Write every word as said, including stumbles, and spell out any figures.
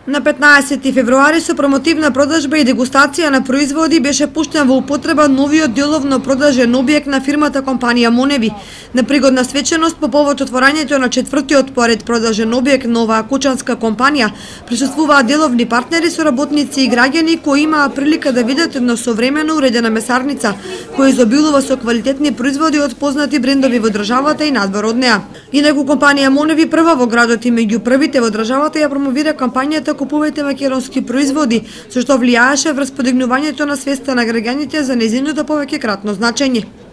На петнаесети февруари со промотивна продажба и дегустација на производи беше пуштен во употреба новиот деловно продажен објект на фирмата компанија Моневи. На пригодна свеченост по повод отворањето на четвртиот поред продажен објект на оваа кучанска компанија присуствуваат деловни партнери, соработници и граѓани кои имаа прилика да видат една современо уредена месарница која изобилува со квалитетни производи од познати брендови во државата и надвор од неа. Инаку компанија Моневи прва во градот и меѓу првите во државата ја промовира кампањата "Купувајте македонски производи", со што влијаеше врз подигнувањето на свеста на граѓаните за нејзиното повеќекратно значење.